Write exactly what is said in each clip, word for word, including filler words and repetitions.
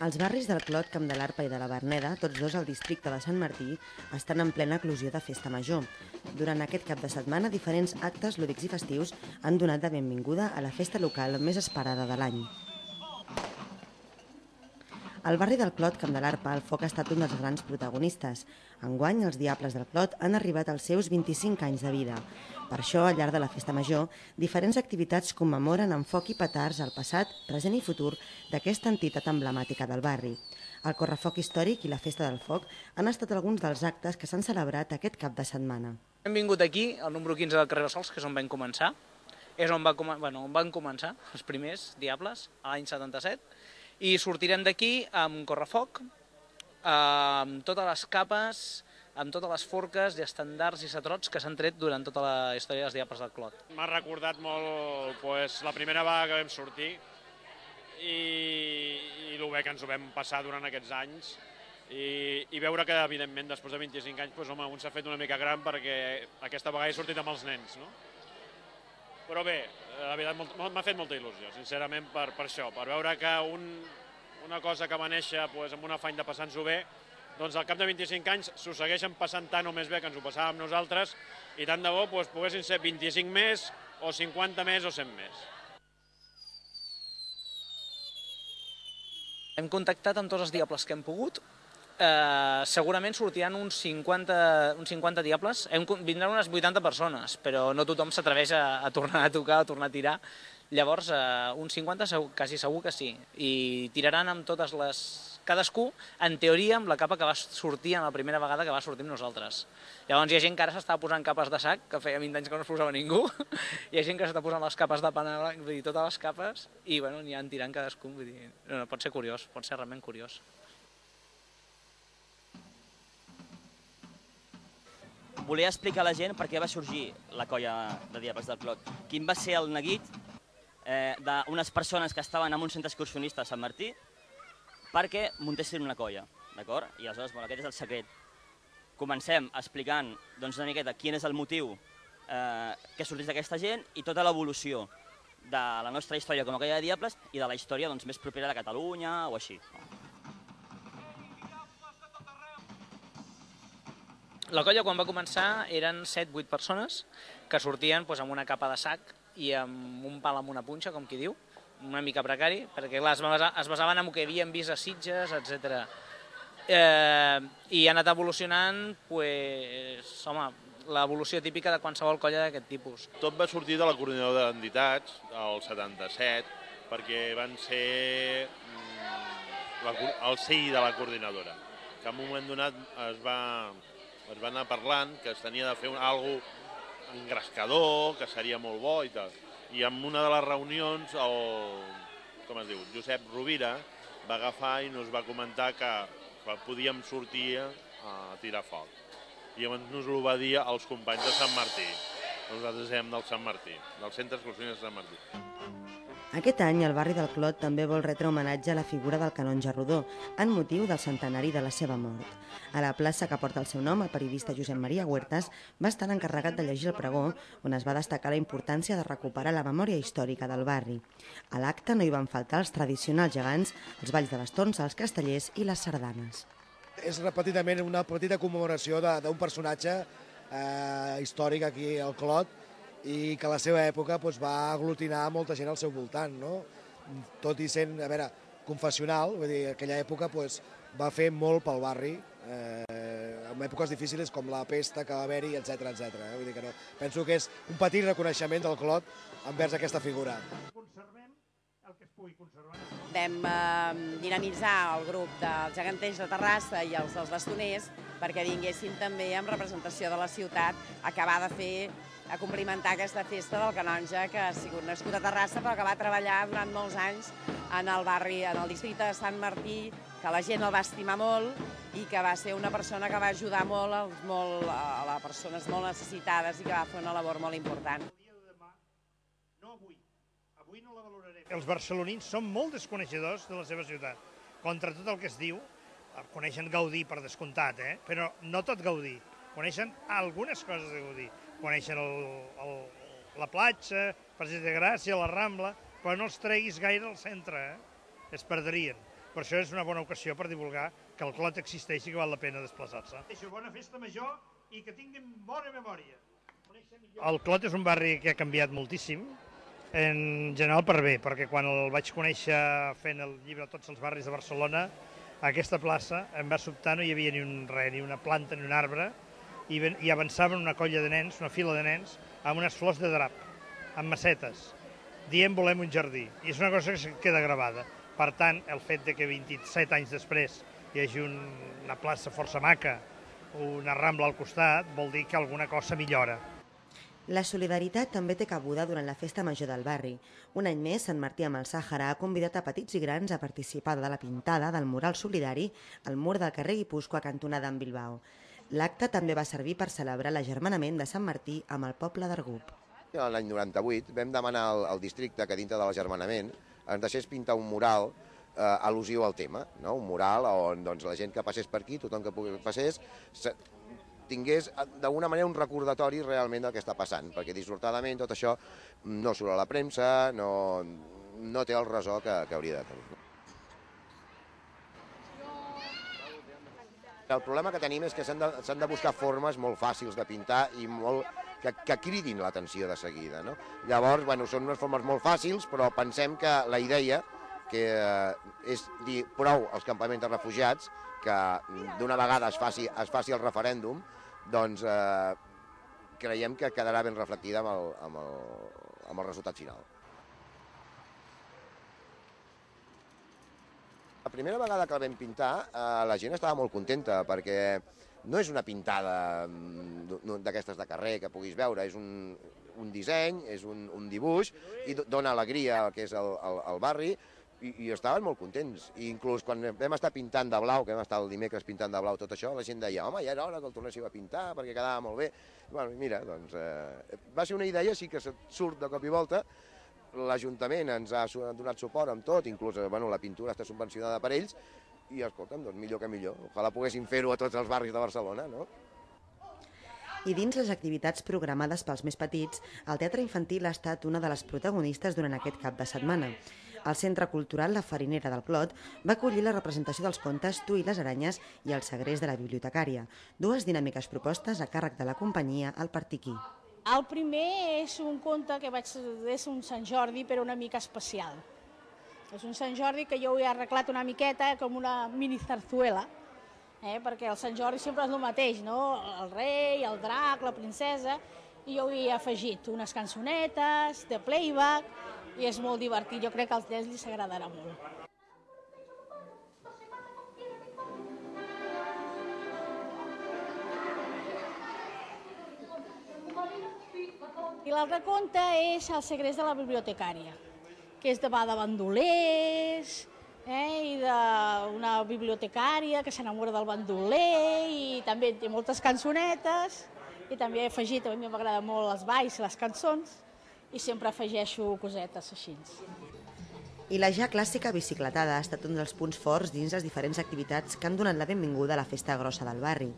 Els barris del Clot, Camp de l'Arpa i de la Verneda, tots dos al districte de Sant Martí, estan en plena eclosió de festa major. Durant aquest cap de setmana, diferents actes lúdics i festius han donat de benvinguda a la festa local més esperada de l'any. Al barri del Clot, Camp de l'Arpa, el foc ha estat un dels grans protagonistes. Enguany, els Diables del Clot han arribat als seus vint-i-cinc anys de vida. Per això, al llarg de la festa major, diferents activitats commemoren amb foc i petards el passat, present i futur d'aquesta entitat emblemàtica del barri. El correfoc històric i la festa del foc han estat alguns dels actes que s'han celebrat aquest cap de setmana. Hem vingut aquí, al número quinze del carrer Bassols, que és on vam començar. És on, va, bueno, on van començar els primers Diables, a l'any setanta-set. I sortirem d'aquí amb correfoc, amb totes les capes, amb totes les forques i estandards i satrots que s'han tret durant tota la història dels Diables del Clot. M'ha recordat molt pues, la primera vegada que vam sortir i, i el bé que ens ho vam passar durant aquests anys i, i veure que, evidentment, després de vint-i-cinc anys, pues, home, un s'ha fet una mica gran perquè aquesta vegada he sortit amb els nens, no? Però bé, la veritat m'ha fet molta il·lusió, sincerament, per, per això, per veure que un, una cosa que va néixer pues, amb un afany de passar-nos-ho bé, doncs al cap de vint-i-cinc anys s'ho segueixen passant tant o més bé que ens ho passàvem nosaltres i tant de bo pues, poguessin ser vint-i-cinc més, o cinquanta més, o cent més. Hem contactat amb tots els diables que hem pogut. Eh, segurament sortiran uns cinquanta, uns cinquanta diables, hem, vindran unes vuitanta persones, però no tothom s'atreveix a, a tornar a tocar, a tornar a tirar. Llavors, eh, uns cinquanta segur, quasi segur que sí, i tiraran amb totes les... cadascú, en teoria, amb la capa que va sortir en la primera vegada que va sortir amb nosaltres. Llavors hi ha gent que ara s'estava posant capes de sac, que feia vint anys que no es posava ningú, hi ha gent que s'està posant les capes de pana blanc, vull dir, totes les capes, i bueno, n'hi han tirant cadascú, vull dir, no, pot ser curiós, pot ser realment curiós. Volia explicar a la gent per què va sorgir la colla de Diables del Clot. Quin va ser el neguit eh, d'unes persones que estaven en un centre excursionista a Sant Martí perquè muntessin una colla, d'acord? I aleshores, bueno, aquest és el secret. Comencem explicant doncs, una miqueta quin és el motiu eh, que sortís d'aquesta gent i tota l'evolució de la nostra història com a colla de Diables i de la història doncs, més propera de Catalunya o així. La colla, quan va començar, eren set vuit persones que sortien doncs, amb una capa de sac i amb un pal amb una punxa, com qui diu, una mica precari, perquè clar, es basaven en el que havíem vist a Sitges, etcètera. Eh, I ha anat evolucionant, pues, home, l'evolució típica de qualsevol colla d'aquest tipus. Tot va sortir de la coordinadora d'entitats, el setanta-set, perquè van ser la, el C I de la coordinadora, que en un moment donat es va, es va anar parlant que es tenia de fer alguna cosa engrescador, que seria molt bo i tal. I en una de les reunions, el, com es diu, Josep Rovira, va agafar i ens va comentar que, que podíem sortir a tirar foc. I llavors ens ho va dir als companys de Sant Martí. Nosaltres érem del Sant Martí, del Centre Excursionista de Sant Martí. Aquest any, el barri del Clot també vol retre homenatge a la figura del canonge Rodó, en motiu del centenari de la seva mort. A la plaça que porta el seu nom, el periodista Josep Maria Huertas va estar encarregat de llegir el pregó, on es va destacar la importància de recuperar la memòria històrica del barri. A l'acte no hi van faltar els tradicionals gegants, els balls de bastons, els castellers i les sardanes. És repetidament una petita commemoració d'un personatge eh, històric aquí al Clot, i que a la seva època doncs, va aglutinar molta gent al seu voltant, no? Tot i sent, a veure, confessional, vull dir, aquella època doncs, va fer molt pel barri, eh, en èpoques difícils com la pesta que va haver-hi, etcètera, etcètera. Eh? Vull dir que no. Penso que és un petit reconeixement del Clot envers aquesta figura. Vam eh, dinamitzar el grup dels geganters de Terrassa i els dels bastoners perquè vinguessin també amb representació de la ciutat a acabar de fer, a complimentar aquesta festa del canonge que ha sigut nascut a Terrassa però que va treballar durant molts anys en el barri, en el districte de Sant Martí, que la gent el va estimar molt i que va ser una persona que va ajudar molt, als, molt a les persones molt necessitades i que va fer una labor molt important. Els barcelonins són molt desconeixedors de la seva ciutat. Contra tot el que es diu, coneixen Gaudí per descomptat, eh? Però no tot Gaudí. Coneixen algunes coses de Gaudí. Coneixen el, el, la platja, Passeig de Gràcia, la Rambla, però no els treguis gaire al centre, eh? Es perdrien. Per això és una bona ocasió per divulgar que el Clot existeix i que val la pena desplaçar-se. Bona festa major i que tinguin bona memòria. El Clot és un barri que ha canviat moltíssim, en general per bé, perquè quan el vaig conèixer fent el llibre Tots els barris de Barcelona, a aquesta plaça em va sobtar, no hi havia ni un res, ni una planta ni un arbre, i, i avançaven una colla de nens, una fila de nens, amb unes flors de drap, amb macetes, dient volem un jardí. I és una cosa que queda gravada. Per tant, el fet de que vint-i-set anys després hi hagi un, una plaça força maca, una rambla al costat, vol dir que alguna cosa millora. La solidaritat també té cabuda durant la festa major del barri. Un any més, Sant Martí amb el Sàhara ha convidat a petits i grans a participar de la pintada del mural solidari al mur del carrer Guipúscoa cantonada amb Bilbao. L'acte també va servir per celebrar l'agermanament de Sant Martí amb el poble d'Argup. L'any noranta-vuit vam demanar al, al districte que dintre de l'agermanament ens deixés pintar un mural eh, al·lusiu al tema, no? Un mural on doncs, la gent que passés per aquí, tothom que passés, tingués d'alguna manera un recordatori realment del que està passant, perquè dissortadament tot això no surt a la premsa, no, no té el ressò que, que hauria de tenir. El problema que tenim és que s'han de, s'han de buscar formes molt fàcils de pintar i molt, que, que cridin l'atenció de seguida. No? Llavors, bueno, són unes formes molt fàcils, però pensem que la idea, que és dir prou als campaments de refugiats, que d'una vegada es faci, es faci el referèndum, doncs eh, creiem que quedarà ben reflectida amb el, amb el, amb el resultat final. La primera vegada que el vam pintar, eh, la gent estava molt contenta, perquè no és una pintada d'aquestes de carrer que puguis veure, és un, un disseny, és un, un dibuix, i dona alegria al que és el, el, el barri, i, i estaven molt contents. I inclús quan vam estar pintant de blau, que vam estar el dimecres pintant de blau tot això, la gent deia, home, ja era hora que el tornéssiu a pintar, perquè quedava molt bé. I, bueno, mira, doncs, eh, va ser una idea, sí que surt de cop i volta. L'Ajuntament ens ha donat suport amb tot, inclús bueno, la pintura està subvencionada per ells, i escolta'm, doncs millor que millor. Ojalà poguéssim fer-ho a tots els barris de Barcelona, no? I dins les activitats programades pels més petits, el teatre infantil ha estat una de les protagonistes durant aquest cap de setmana. El Centre Cultural La Farinera del Clot va acollir la representació dels contes Tu i les aranyes i el segrest de la bibliotecària, dues dinàmiques propostes a càrrec de la companyia El Partiquí. El primer és un conte que vaig és un Sant Jordi, però una mica especial. És un Sant Jordi que jo ho he arreglat una miqueta com una mini zarzuela, eh? Perquè el Sant Jordi sempre és el mateix, no? El rei, el drac, la princesa, i jo hi he afegit unes cançonetes de playback, i és molt divertit, jo crec que als nens els agradarà molt. I l'altre conte és El segrest de la bibliotecària, que és de va de bandolers, eh, i d'una bibliotecària que s'enamora del bandoler, i també té moltes cançonetes, i també he afegit, a mi m'agrada molt els balls i les cançons, i sempre afegeixo cosetes així. I la ja clàssica bicicletada ha estat un dels punts forts dins les diferents activitats que han donat la benvinguda a la festa grossa del barri.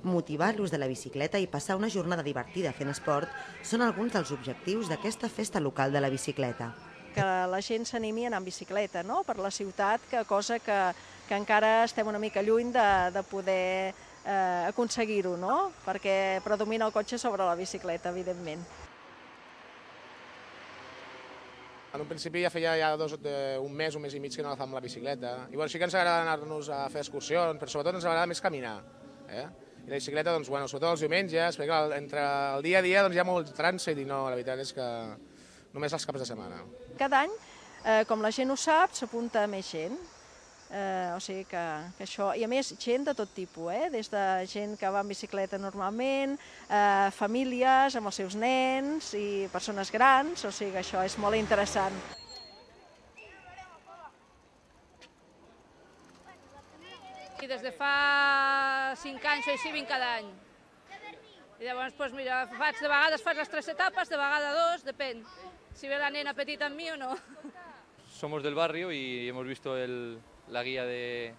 Motivar l'ús de la bicicleta i passar una jornada divertida fent esport són alguns dels objectius d'aquesta festa local de la bicicleta. Que la gent s'animi a anar en bicicleta, no?, per la ciutat, que cosa que, que encara estem una mica lluny de, de poder eh, aconseguir-ho, no?, perquè predomina el cotxe sobre la bicicleta, evidentment. En un principi ja feia ja dos, un mes, un mes i mig que no agafàvem la bicicleta. I bueno, sí que ens agrada anar-nos a fer excursions, però sobretot ens agrada més caminar. Eh? I la bicicleta, doncs, bueno, sobretot els diumenges, perquè clar, entre el dia a dia doncs, hi ha molt trànsit i no, la veritat és que només els caps de setmana. Cada any, eh, com la gent ho sap, s'apunta més gent. Eh, o sigui que, que això... I a més, gent de tot tipus, eh? Des de gent que va en bicicleta normalment, eh, famílies amb els seus nens i persones grans, o sigui que això és molt interessant. I des de fa cinc anys o així vinc cada any. I llavors, doncs, mira, faig, de vegades faig les tres etapes, de vegades dos, depèn. Si ve la nena petita amb mi o no. Somos del barrio y hemos visto el... la guía de,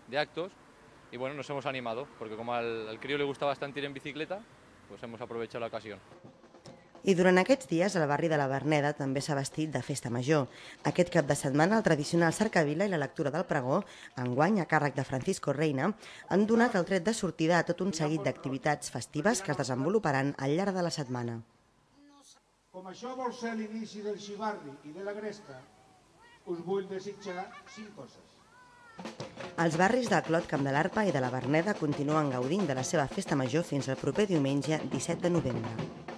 de actos y bueno, nos hemos animado porque como al, al crío le gusta bastante ir en bicicleta, pues hemos aprovechado la ocasión. I durant aquests dies el barri de la Verneda també s'ha vestit de festa major. Aquest cap de setmana el tradicional cercavila i la lectura del pregó, enguany a càrrec de Francisco Reina, han donat el tret de sortida a tot un seguit d'activitats festives que es desenvoluparan al llarg de la setmana. Com això vol ser l'inici del xivarri i de la gresca, us vull desitjar cinc coses. Els barris del Clot, Camp de l'Arpa i de la Verneda continuen gaudint de la seva festa major fins al proper diumenge disset de novembre.